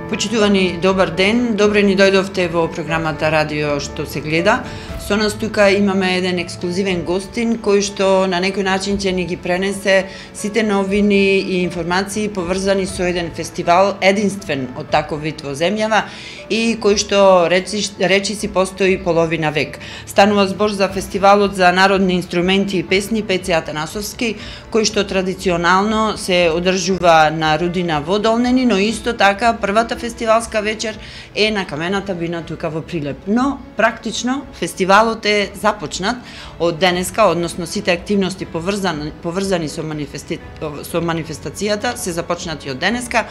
Почитувани, добар ден. Добре ни дојдовте во програмата Радио што се гледа. Со нас тука имаме еден ексклузивен гостин кој што на некој начин ќе ни ги пренесе сите новини и информации поврзани со еден фестивал единствен од таков вид во земјава и кој што речиси постои половина век. Станува збор за фестивалот за народни инструменти и песни Пеце Атанасовски, кој што традиционално се одржува на Рудина во Долнени, но исто така првата фестивалска вечер е на Камената бина тука во Прилеп. Но практично фестивалот е започнат од денеска, односно сите активности поврзани со манифестацијата се започнати од денеска.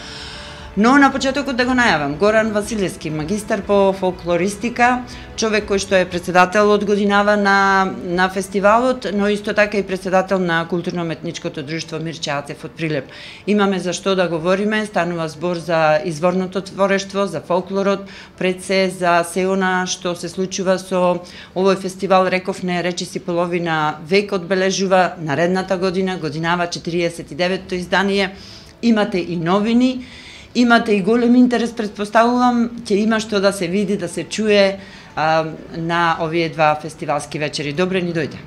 Но на почетокот да го најавам, Горан Василевски, магистар по фолклористика, човек кој што е председател од годинава на фестивалот, но исто така и председател на културно-уметничкото друштво Мирче Ацев од Прилеп. Имаме за што да говориме, станува збор за изворното творештво, за фолклорот, пред се за се она што се случува со овој фестивал, рековне, речиси половина век одбележува наредната година, годинава 49-то издание. Имате и новини, имате и голем интерес, претпоставувам, ќе има што да се види, да се чуе на овие два фестивалски вечери. Добре ни дојде.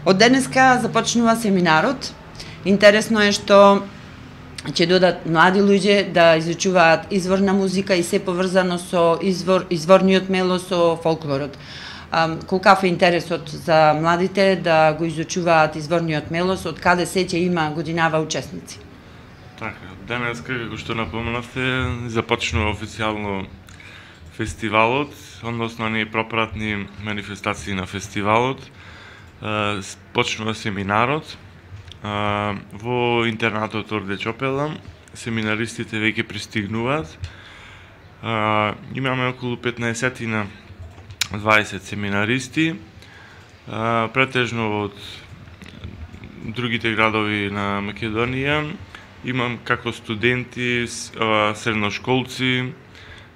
Од денеска започнува семинарот. Интересно е што ќе додат млади луѓе да изучуваат изворна музика и се поврзано со изворниот мело со фолклорот. Колкав е интересот за младите да го изучуваат изворниот мелос, од каде се ќе има годинава учесници? Така, денеска, како што напомнавте, започнува официјално фестивалот, односно ние пропратни манифестации на фестивалот. Почнува семинарот во интернатот Орде Чопела. Семинаристите веќе пристигнуваат. Имаме околу 15-на 20 семинаристи, претежно од другите градови на Македонија. Имам како студенти, средношколци,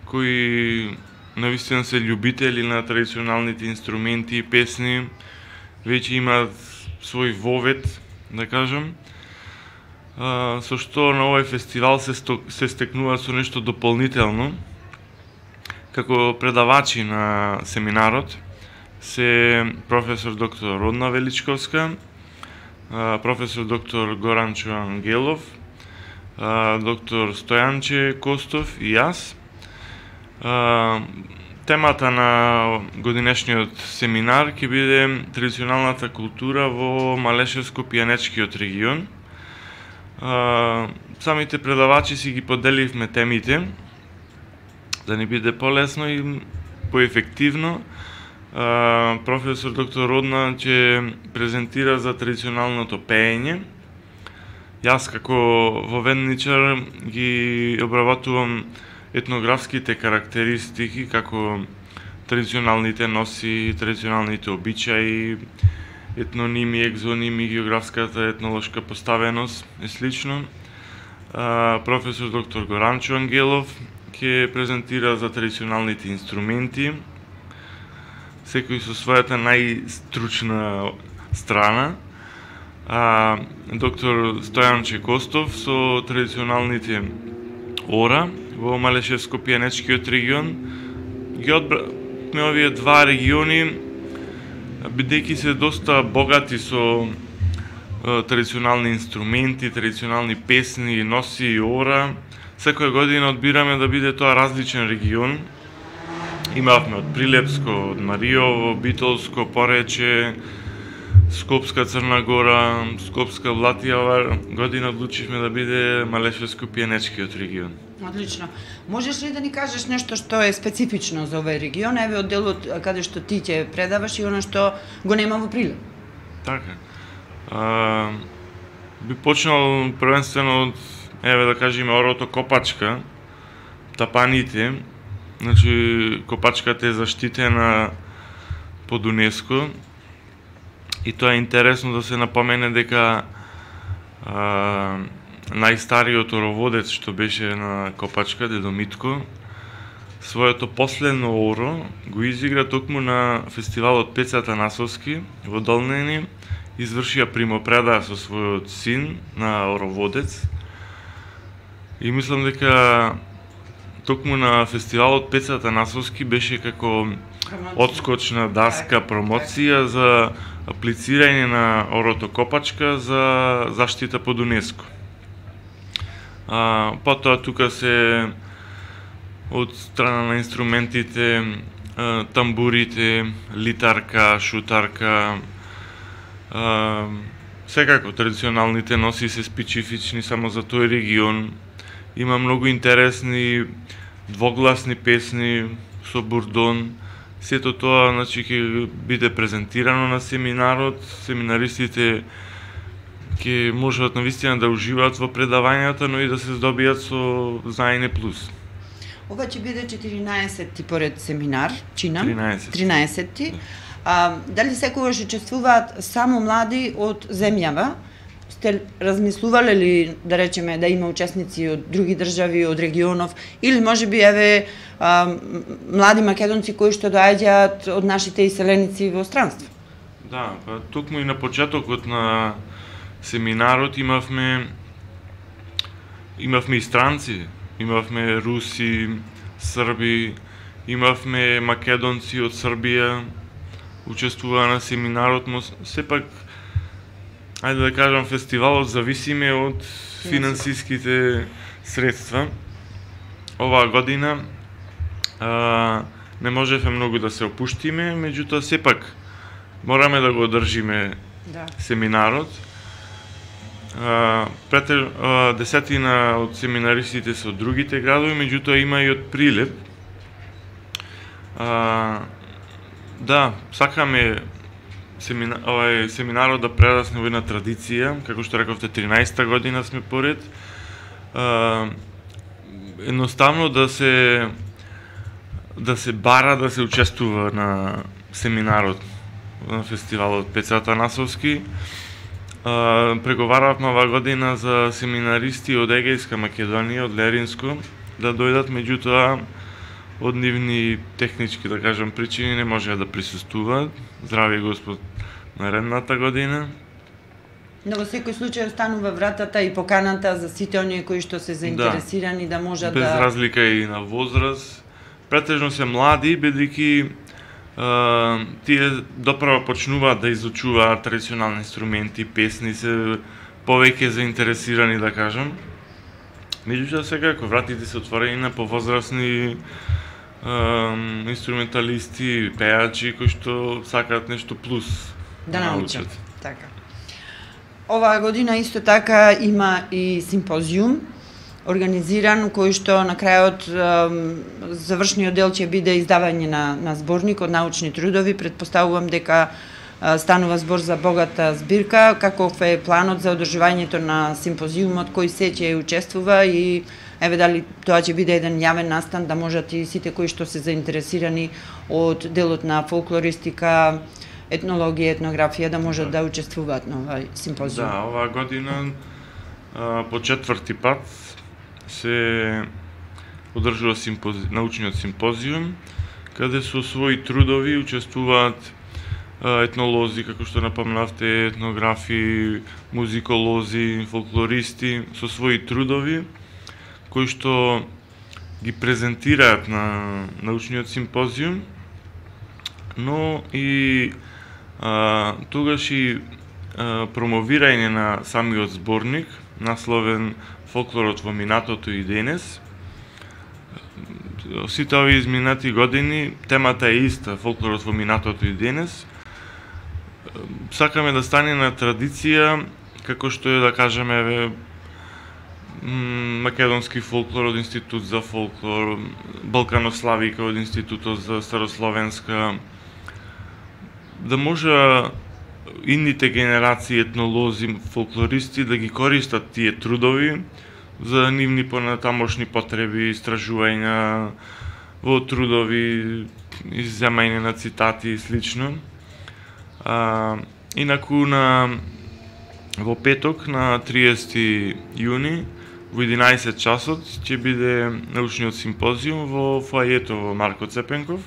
кои навистина се љубители на традиционалните инструменти и песни, веќе имаат свој вовет, да кажам, со што на овој фестивал се стекнува со нешто дополнително. Како предавачи на семинарот се професор доктор Родна Величковска, професор доктор Горанчо Ангелов, доктор Стојанче Костов и јас. Темата на годинешниот семинар ќе биде традиционалната култура во Малешевско-пијанечкиот регион. Самите предавачи си ги поделивме темите, да ни биде полесно и поефективно. Професор доктор Родна ќе презентира за традиционалното пеење. Јас како воведничар ги обработувам етнографските карактеристики, како традиционалните носи, традиционалните обичаи, етноними, екзоними, географската етнолошка поставеност и слично. Професор доктор Горанчо Ангелов ќе презентира за традиционалните инструменти, секој со својата најстручна страна. Доктор Стојанче Костов со традиционалните ора во Малешевско-пијанечкиот регион. Ги одбраме овие два региони, бидејќи се доста богати со традиционални инструменти, традиционални песни, носи и ора. Секоја година одбираме да биде тоа различен регион. Имавме од Прилепско, од Мариово, Битолско, Порече, Скопска Црна Гора, Скопска Блатија. Ова година одлучивме да биде Малешевско-пијанечкиот регион. Одлично. Можеш ли да ни кажеш нешто што е специфично за овој регион, еве од делот каде што ти ќе предаваш и она што го нема во Прилеп? Така. Би почнал првенствено од, еве да кажеме, орото Копачка, тапаните. Значи, Копачката е заштитена под УНЕСКО и тоа е интересно да се напомене дека најстариот ороводец што беше на Копачка, дедо Митко, своето последно оро го изигра токму на фестивалот Пеце Атанасовски во Долнени, извршија примопредаа со својот син на ороводец. И мислам дека токму на фестивалот Пеца Атанасовски беше како одскочна даска промоција за аплицирање на оротокопачка за заштита под УНЕСКО. Потоа тука се од страна на инструментите, тамбурите, литарка, шутарка, секако традиционалните носи се специфични само за тој регион. Има многу интересни двогласни песни со бурдон. Сето тоа, значи, ќе биде презентирано на семинарот. Семинаристите ќе можат навистина да уживаат во предавањата, но и да се здобијат со знаење плюс. Ова ќе биде 14-ти поред семинар, чинам? 13-ти. Дали секогаш учествуваат само млади од земјава? Сте размислувале ли, да речеме, да има учесници од други држави, од регионов, или можеби еве млади македонци кои што доаѓаат од нашите иселеници во странство? Да, па токму и на почетокот на семинарот имавме и странци, имавме руси, срби, имавме македонци од Србија, учествуваа на семинарот, но сепак, ајде да кажам, фестивалот зависиме од финансиските средства. Оваа година не можевме многу да се опуштиме, меѓутоа сепак мораме да го одржиме семинарот. Десетина од семинаристите се од другите градови, меѓутоа има и од Прилеп. Да, сакаме семинарот да прерасне во една традиција, како што рековте, 13-та година сме поред. Едноставно да се бара да се учествува на семинарот на фестивалот Пеца Атанасовски. Преговаравме оваа година за семинаристи од Егејска Македонија, од Леринско, да дојдат, меѓутоа од нивни технички, да кажам, причини не можеа да присуствуваат. Здрави Господ наредната година. Но во секој случај останува вратата и поканата за сите оние кои што се заинтересирани да можат без разлика и на возраст. Претежно се млади, бидејќи тие доправо почнуваат да изучуваат традиционални инструменти, песни, се повеќе заинтересирани, да кажам. Меѓутоа секако вратите се отворени на повозрасни инструменталисти, пејачи кои што сакаат нешто плюс да научат. Така. Оваа година исто така има и симпозиум организиран, кој што на крајот завршниот дел ќе биде издавање на зборник од научни трудови. Претпоставувам дека станува збор за богата збирка. Каков е планот за одржувањето на симпозиумот, кој се ќе учествува и еве дали тоа ќе биде еден јавен настан да можат и сите кои што се заинтересирани од делот на фолклористика, етнологија, етнографија да можат да учествуваат на овај симпозиум. Да, оваа година по четврти пат се одржува научниот симпозиум, каде со своји трудови учествуваат етнолози, како што напомнавте, етнографи, музиколози, фолклористи, со своји трудови, кои што ги презентираат на научниот симпозиум, но и тогаш и промовирање на самиот зборник, насловен Фолклорот во минатото и денес. Сите овие изминати години темата е иста, фолклорот во минатото и денес. Сакаме да стане на традиција, како што е, да кажеме, македонски фолклор од Институт за фолклор, Балканославика од Институтот за старословенска, да може идните генерации етнолози, фолклористи да ги користат тие трудови за нивни понатамошни потреби, истражувања во трудови, изземање на цитати и слично. Инаку во петок на 30 јуни во 11 часот ќе биде научниот симпозиум во фоајето во Марко Цепенков.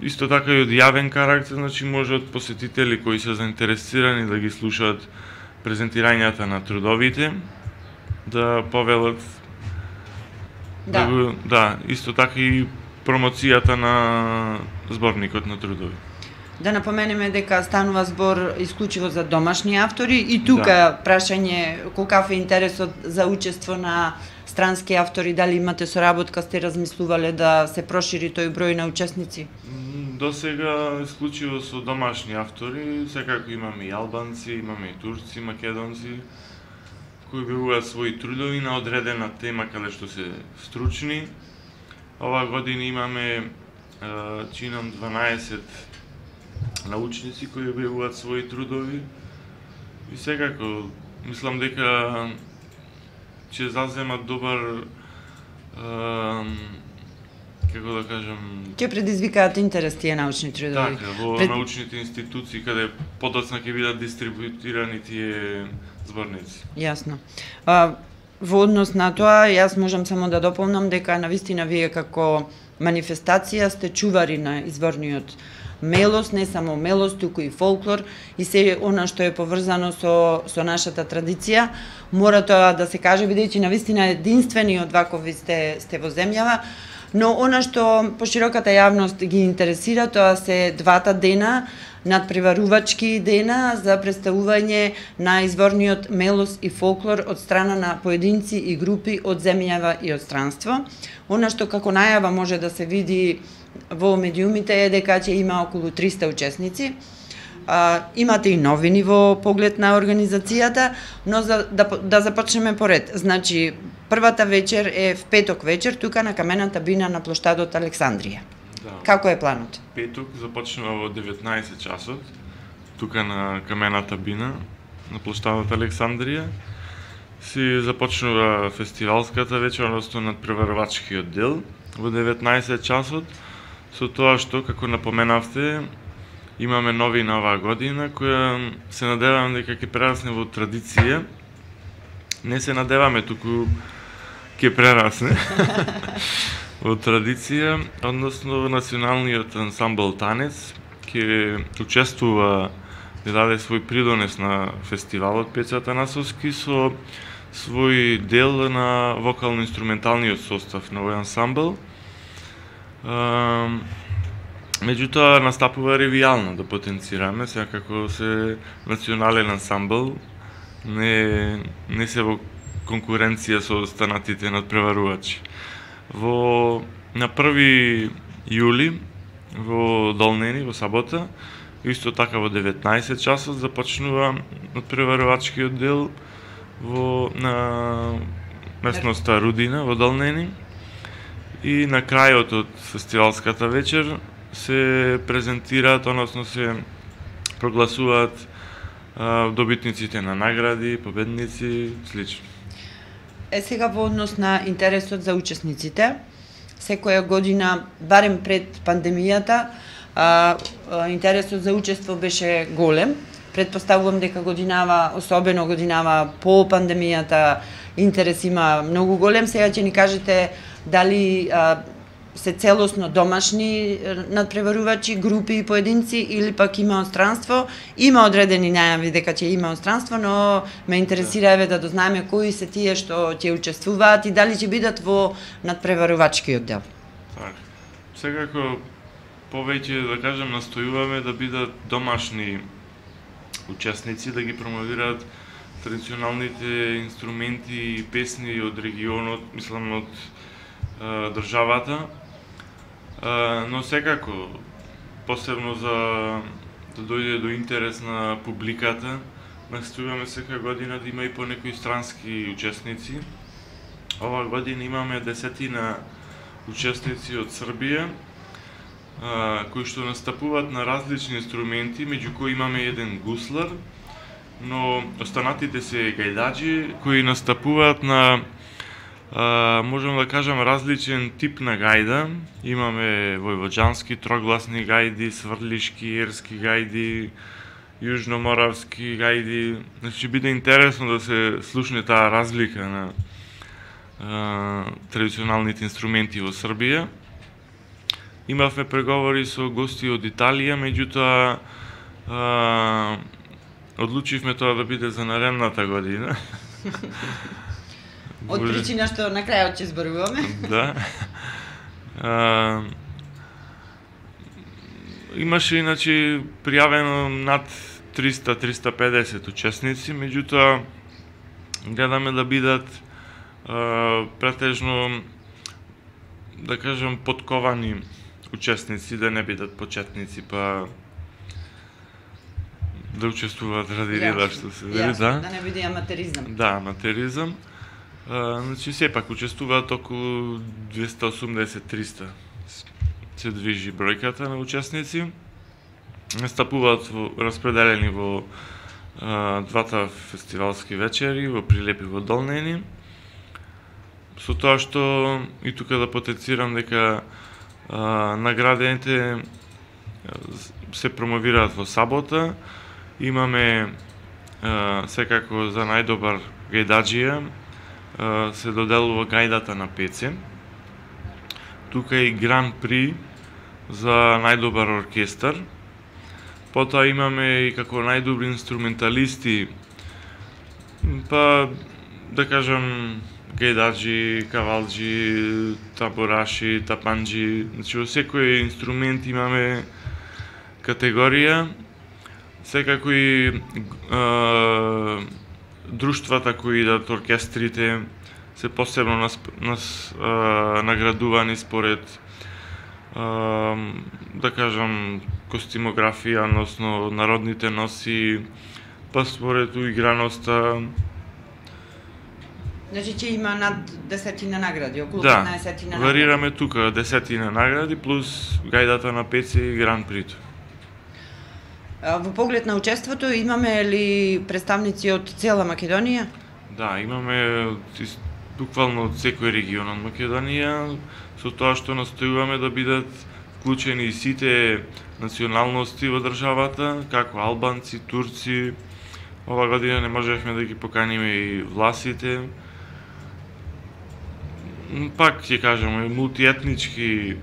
Исто така и од јавен карактер, значи можат посетители кои се заинтересирани да ги слушаат презентирањата на трудовите. да повелат исто така и промоцијата на зборникот на трудови. Да напоменеме дека станува збор исклучиво за домашни автори и тука прашање колкав е интересот за учество на странски автори, дали имате соработка, сте размислувале да се прошири тој број на учесници? До сега исклучиво со домашни автори, секако имаме и албанци, имаме и турци, македонци, кои објавуваат своји трудови на одредена тема каде што се стручни. Ова година имаме чинам 12 научници кои објавуваат своји трудови и секако мислам дека ќе заземат добар како да кажам, ќе предизвикаат интерес тие научни трудови. Така, во научните институции каде подоцна ќе бидат дистрибутирани тие зборници. Јасно. Во однос на тоа, јас можам само да дополнам дека навистина вие како манифестација сте чувари на изворниот мелос, не само мелос, туку и фолклор и се она што е поврзано со нашата традиција. Мора тоа да се каже, бидејќи навистина единствени од вакови сте во земјава, но она што пошироката јавност ги интересира, тоа се двата дена, надпреварувачки дена за представување на изворниот мелос и фолклор од страна на поединци и групи од земјава и од странство. Она што како најава може да се види во медиумите е дека ќе има околу 300 учесници. Имате и новини во поглед на организацијата, но да започнеме поред. Значи, првата вечер е в петок вечер, тука на камената бина на плоштадот Александрија. Да. Како е планот? Петок започнува во 19 часот, тука на камената бина на плоштадот Александрија. Си започнува фестивалската вечер, односно надпреварувачкиот дел во 19 часот, со тоа што, како напоменавте, имаме новина оваа година, која се надевам дека ќе прерасне во традиција. Не се надеваме, туку ќе прерасне во традиција, односно националниот ансамбл Танец ќе учествува, да даде свој придонес на фестивалот Пеца Атанасовски со свој дел на вокално-инструменталниот состав на овој ансамбл. Меѓутоа настапува ревијално да потенцираме, секако се национален ансамбл, не се во конкуренција со останатите надпреварувачи. На 1 јули во Долнени, во сабота, исто така во 19 часот започнува надпреварувачкиот дел на местноста Рудина во Долнени и на крајот од фестивалската вечер се презентираат, односно се прогласуваат добитниците на награди, победници, слично. Сега во однос на интересот за учесниците, секоја година, барем пред пандемијата, интересот за учество беше голем. Предпоставувам дека годинава, особено годинава по пандемијата, интерес има многу голем. Сега ќе ни кажете дали се целосно домашни надпреварувачи, групи и поединци или пак има странство. Има одредени најави дека ќе има странство, но ме интересира да дознаеме кои се тие што ќе учествуваат и дали ќе бидат во надпреварувачкиот дел. Так. Секако повеќе да кажам настојуваме да бидат домашни учесници, да ги промовираат традиционалните инструменти и песни од регионот, мислам од државата. Но секако, посебно за да дојде до интерес на публиката, настојуваме секоја година да има и по некои странски учесници. Ова година имаме 10 учесници од Србија, кои што настапуваат на различни инструменти, меѓу кои имаме еден гуслар, но останатите се гајдаџи кои настапуваат на можам да кажам различен тип на гајда. Имаме војвоđански трогласни гајди, сврлишки, ерски гајди, јужноморавски гајди. Значи биде интересно да се слушне таа разлика на традиционалните инструменти во Србија. Имавме преговори со гости од Италија, меѓутоа одлучивме тоа да биде за наредната година. Од причина што на крајот ќе зборуваме. Да. Имаше иначе пријавено над 300-350 учесници, меѓутоа гледаме да бидат претежно, да кажем, подковани учесници, да не бидат почетници, па да учествуваат ради реда, што се вели, да не биде аматеризам. Да, аматеризам. Значи, сепак учествуваат околу 280-300 се движи бројката на учесници. Настапуваат распределени во двата фестивалски вечери, во Прилеп и во Долнени. Со тоа што и тука да потенцирам дека наградените се промовираат во сабота. Имаме секако за најдобар гајдаджија се доделува гајдата на Пеце. Тука и Гран При за најдобар оркестар. Потоа имаме и како најдобри инструменталисти, па да кажам гајдаджи, кавалджи, табораши, тапанджи, значи во секој инструмент имаме категорија. Секако и друштвата кои идат, оркестрите, се посебно наградувани според да кажам костимографија, односно народните носи, па според уиграноста. Значи ќе има над 10 награди, околу 15 награди. Да, варираме тука 10 награди плюс гајдата на Пеце и Гран Прито. Во поглед на учеството имаме ли представници од цела Македонија? Да, имаме буквално од секој регион од Македонија, со тоа што настојуваме да бидат вклучени и сите националности во државата, како албанци, турци. Ова година не можевме да ги поканиме и власите. Пак ќе кажеме, мултиетнички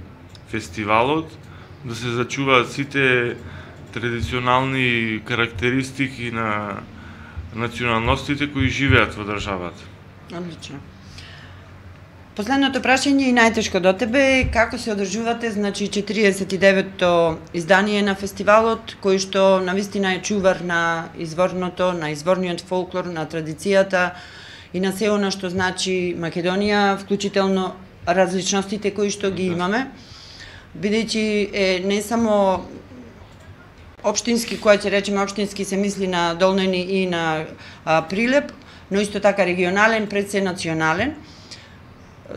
фестивалот, да се зачуваат сите традиционални карактеристики на националностите кои живеат во државата. Одлично. Последното прашање и најтешко до тебе е како се одржувате, значи 49-то издание на фестивалот, кој што навистина е чувар на изворното, на изворниот фолклор, на традицијата и на се она што значи Македонија, вклучително различностите кои што ги имаме, бидејќи е не само општински, која ќе речеме општински се мисли на Долнени и на Прилеп, но исто така регионален, пред се национален.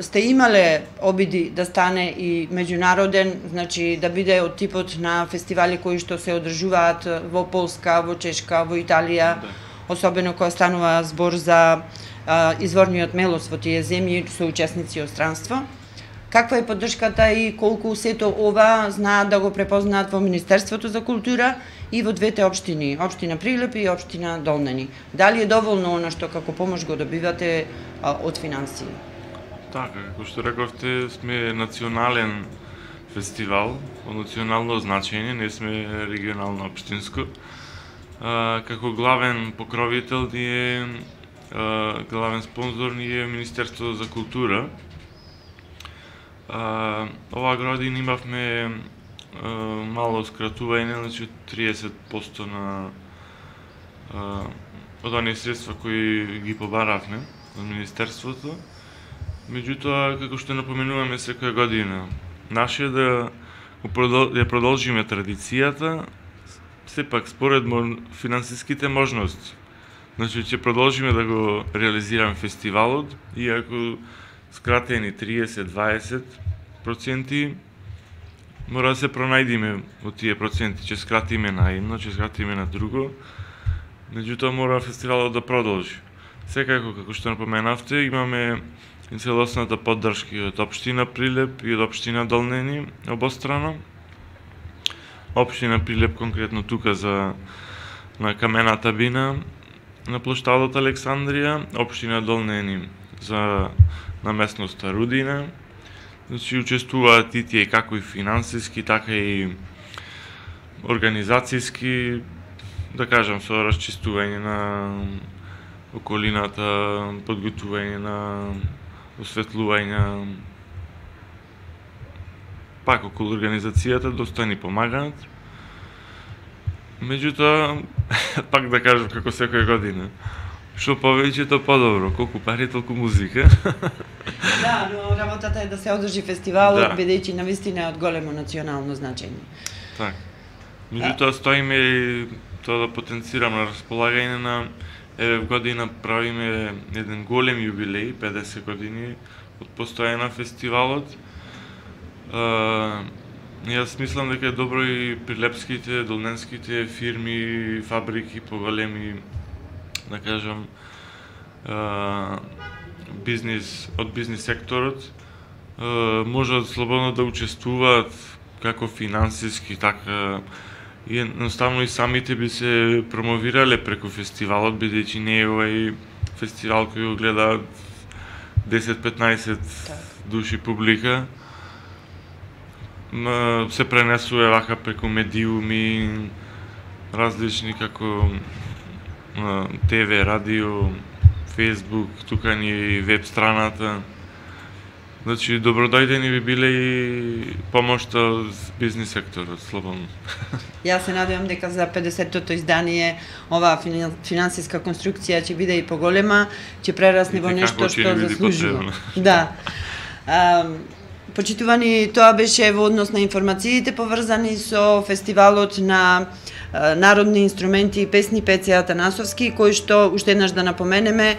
Сте имале обиди да стане и меѓународен, значи да биде од типот на фестивали кои што се одржуваат во Полска, во Чешка, во Италија, особено кога станува збор за изворниот мелос во тие земји со учесници од странство. Каква е поддршката и колку сето ова знаат да го препознаат во Министерството за култура и во двете општини, општина Прилеп и општина Долнени? Дали е доволно она што како помош го добивате од финансии? Така, како што рековте, сме национален фестивал, од национално значење, не сме регионално општинско. Како главен покровител ни е, главен спонзор ни е Министерството за култура. Оваа година имавме мало скратување, значи 30% на од оние средства кои ги побаравме од Министерството. Меѓутоа, како што напоменуваме секоја година, наше да продолжиме традицијата, сепак според финансиските можности. Значи, ќе продолжиме да го реализираме фестивалот, иако скратени 30-20%, мора да се пронајдиме од тие проценти, ќе скратиме на едно, ќе скратиме на друго, меѓутоа мора фестивалот да продолжи. Секако, како што напоменавте, имаме и целосната поддршка од општина Прилеп и од општина Долнени обострано. Општина Прилеп конкретно тука на камената бина на плоштадот Александрија, општина Долнени на местноста Рудина. Значи учествуваат и тие како и финансиски, така и организацијски, да кажам, со расчистување околината, подготување на осветлување, пак околу организацијата доста ни помагаат. Меѓутоа, пак да кажам како секоја година, што повеќе то подобро, колку пари толку музика. Да, но работата е да се одржи фестивалот, бидејќи навистина е од големо национално значење. Так. Меѓутоа стоиме и тоа да потенцирам на располагање на еве година правиме еден голем јубилеј, 50 години од постојање на фестивалот. Јас мислам дека е добро и прилепските, долненските фирми, фабрики, поголеми, да кажам, од бизнис секторот, можат слободно да учествуваат како финансиски, така и едноставно и самите би се промовирале преку фестивалот, бидејќи не е овај фестивал кој го гледаат 10-15 души публика. Се пренесува вака преку медиуми, различни како ТВ, радио, Фейсбук, тука ни и веб страната. Значи, добродојдени би биле и помошта од бизнис секторот, слободно. Јас се надевам дека за 50-тото издание оваа финансиска конструкција ќе биде и поголема, ќе прерасне во нешто што заслужува. Да. Почитувани, тоа беше во однос на информациите поврзани со фестивалот на народни инструменти и песни Пеце Атанасовски, кој што, уште еднаш да напоменеме,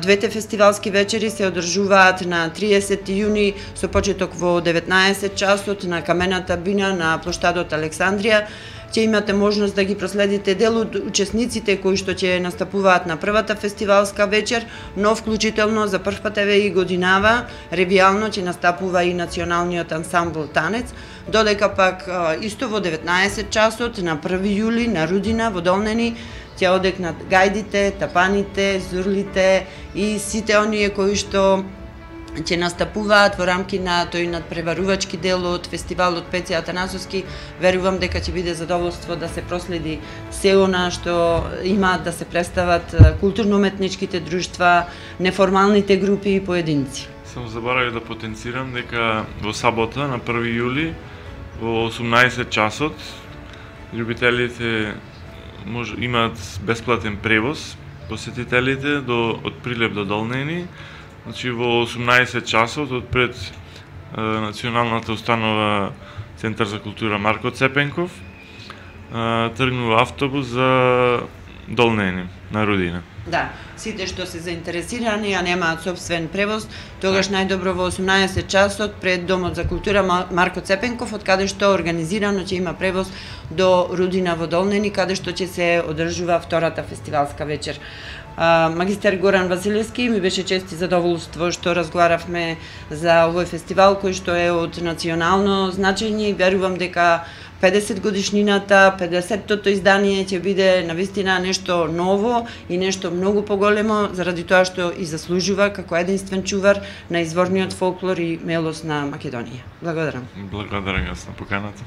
двете фестивалски вечери се одржуваат на 30 јуни со почеток во 19 часот на камената бина на плоштадот Александрија. Ќе имате можност да ги проследите дел од учесниците кои што ќе настапуваат на првата фестивалска вечер, но вклучително за прв пат еве и годинава ревијално ќе настапува и националниот ансамбл Танец, додека пак исто во 19 часот на 1 јули на Рудина во Долнени ќе одекнат гајдите, тапаните, зурлите и сите оние кои што ќе настапуваат во рамки на тој надпреварувачки дел од фестивалот Пеце Атанасовски. Верувам дека ќе биде задоволство да се проследи се она што имаат да се представат културно-уметничките друштва, неформалните групи и поединци. Само заборавив да потенцирам дека во сабота на 1 јули во 18 часот љубителите имаат бесплатен превоз, посетителите од Прилеп до Долнени. Значи во 18 часот од пред националната установа Центар за култура Марко Цепенков тргнува автобус за Долнени на Рудина. Да, сите што се заинтересирани, а немаат собствен превоз, тогаш најдобро во 18 часот пред Домот за култура Марко Цепенков, од каде што организирано ќе има превоз до Рудина во Долнени, каде што ќе се одржува втората фестивалска вечер. Магистер Горан Василевски, ми беше чест и задоволство што разговаравме за овој фестивал кој што е од национално значење и верувам дека 50 годишнината, 50-тото издание ќе биде навистина нешто ново и нешто многу поголемо, заради тоа што и заслужува како единствен чувар на изворниот фолклор и мелос на Македонија. Благодарам. Благодарам јас на поканата.